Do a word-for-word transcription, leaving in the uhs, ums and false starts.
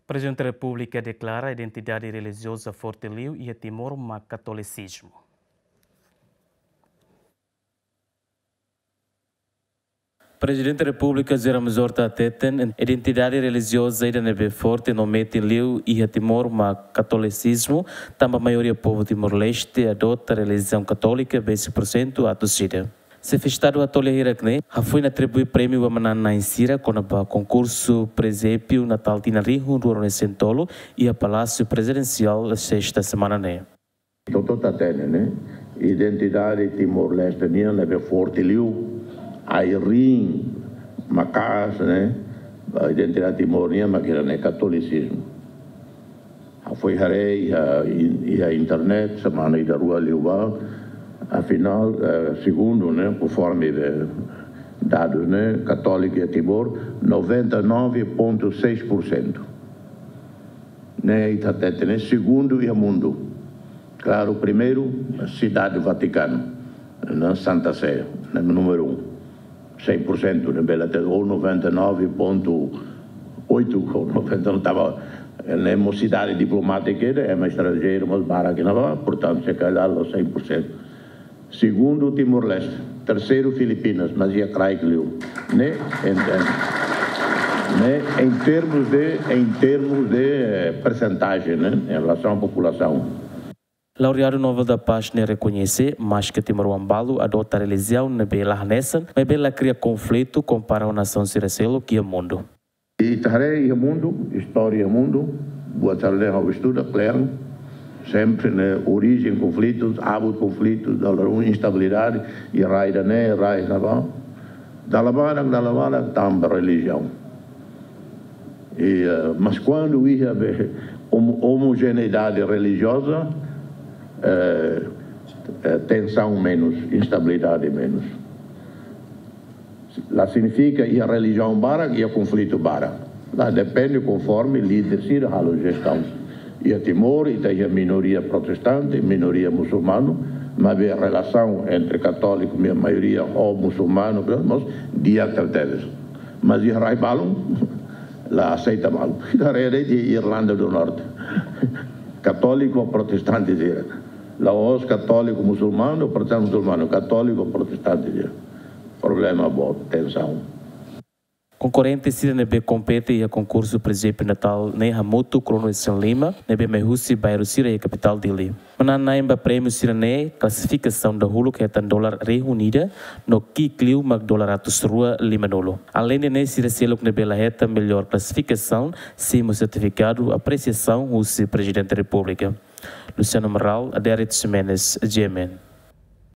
Prezidente Repúblika deklara identidade relijioza forte liu iha Timor mak katolisizmu. Prezidente Repúblika José Ramos Horta hateten, identidade relijioza ida ne'ebé forte no metin liu iha Timor mak katolisizmu, tanba maioria povu Timor-Leste adota relijiaun katólika besik pursentu atus ida. Xefe Estadu hato'o lia hirak-ne'e hafoin atribui prémiu ba manán-na'in sira kona-ba konkursu Presépiu Natál tinan rihun rua ruanulu-resin-tolu iha Palásiu Prezidensiál sesta semana ne'e. Hotu-hotu hatene, ne'e? Identidade Timor-Leste nian ne'ebé forte liu, ai-riin maka'as, ne'e? Identidade Timor nian mak ida-ne'e katolisizmu. Hafoin haree iha, iha internet, semana ida rua liubá, afinál, eh, segundu, ne'e, konforme, eh, dadus, ne'e, katóliku iha Timor, noventa e nove ponto seis por cento. Ne'e, ita hatete, ne'e, segundu iha mundu. Klaru, primeiru, Sidade Vatikanu, ne'e, Santa Sé, ne'e, númeru um. Cem por cento, ne'e, bele hatete, ou noventa e nove ponto oito, ou noventa, não estava, ne'e, mós sidade diplomátika, ne'e, ema estranjeiru mós barak iha ne'ebá, portantu, se kalhar, la'ós cem por cento. Segundu, Timor-Leste. Terseiru, Filipinas, mas iha kraik liu. Ne'e, em, em, ne'e, em termos de, em termos de, eh, percentagem, ne'e, em relação à população. Laureadu Nobel da Paz ne'e rekoñese, maske timoroan balu adota relijiaun ne'ebé la hanesan, maibé la kria konflitu kompara ho nasaun sira seluk iha mundu. Ita haree iha mundu, istória iha mundu, buat sira-ne'e ha'u estuda, kle'an, sempre, ne'e, orijen konflitus, abut konflitus, dala ruma instabilidade, iha rai ida-ne'e, rai ne'ebá. Dala barak, dala barak, tanba relijiaun. I, eh, mas kuandu iha be, homo-, omojeneidade relijioza, eh, eh, tensaun menus, instabilidade menus. La signifika iha relijiaun barak, iha konflitu barak. La depende konforme líder sira halo jestaun. Iha Timor, ita iha minoria protestante, minoria musulmanu, maibé relasaun entre katóliku, ma-, maioria, ho musulmanu, mós di'ak tebes. Mas iha rai balun, la aseita malu. Ita haree iha Irlanda do Norte. Katóliku, protestante sira. La'ós katóliku musulmanu, protestante musulmanu, katóliku, protestante sira. Problema boot, tensaun. Konkorrente sira ne'ebé kompete iha konkursu Presépiu Natál ne'e hamutuk ruanulu-resin-lima, ne'ebé mai husi bairru sira iha kapitál Dili. Manán-na'in ba prémiu sira-ne'e, klasifikasaun dahuluk hetan dolar rihun ida, no ki'ik liu mak dolar atus rua limanulu. Aleinde ne'e, sira seluk ne'ebé la hetan mellór klasifikasaun, sei hetan sertifikadu apresiasaun husi Prezidente Repúblika. Luciano Amaral, Adérito Ximenes, G M N.